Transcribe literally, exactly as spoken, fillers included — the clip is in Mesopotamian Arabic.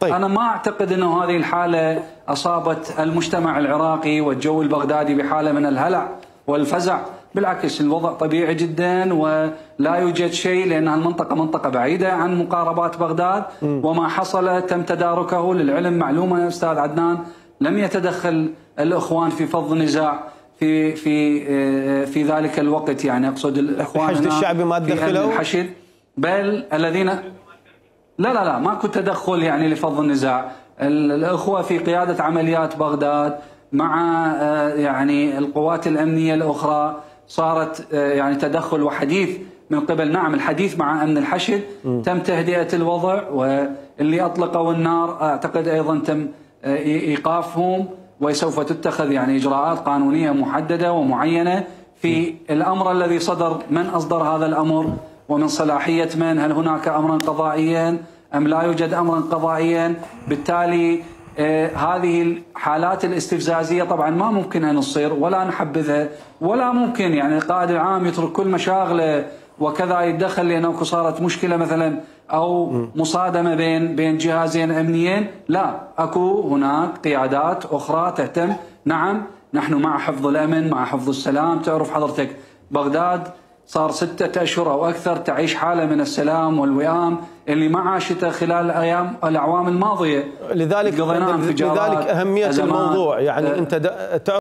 طيب. أنا ما أعتقد أنه هذه الحالة أصابت المجتمع العراقي والجو البغدادي بحالة من الهلع والفزع، بالعكس الوضع طبيعي جدا ولا يوجد شيء، لأن المنطقة منطقة بعيدة عن مقاربات بغداد. م. وما حصل تم تداركه. للعلم معلومة يا أستاذ عدنان، لم يتدخل الإخوان في فض نزاع في في في ذلك الوقت، يعني أقصد الإخوان الحشد الشعبي ما تدخلوا؟ الحشد بل الذين لا لا لا ماكو تدخل يعني لفض النزاع. الأخوة في قيادة عمليات بغداد مع يعني القوات الأمنية الأخرى صارت يعني تدخل وحديث من قبل، نعم الحديث مع أمن الحشد. م. تم تهدئة الوضع، واللي أطلقوا النار أعتقد أيضا تم إيقافهم، وسوف تتخذ يعني إجراءات قانونية محددة ومعينة في الأمر الذي صدر. من أصدر هذا الأمر ومن صلاحية من؟ هل هناك أمرا قضائيا أم لا يوجد أمرا قضائيا؟ بالتالي آه هذه الحالات الاستفزازية طبعا ما ممكن أن تصير ولا نحبذها، ولا ممكن يعني القائد العام يترك كل مشاغله وكذا يتدخل لأنه صارت مشكلة مثلا أو مصادمة بين بين جهازين أمنيين. لا، أكو هناك قيادات أخرى تهتم. نعم نحن مع حفظ الأمن، مع حفظ السلام. تعرف حضرتك بغداد صار ستة أشهر أو أكثر تعيش حالة من السلام والوئام اللي ما عاشته خلال الأيام الأعوام الماضية. لذلك لذلك أهمية الموضوع، يعني أنت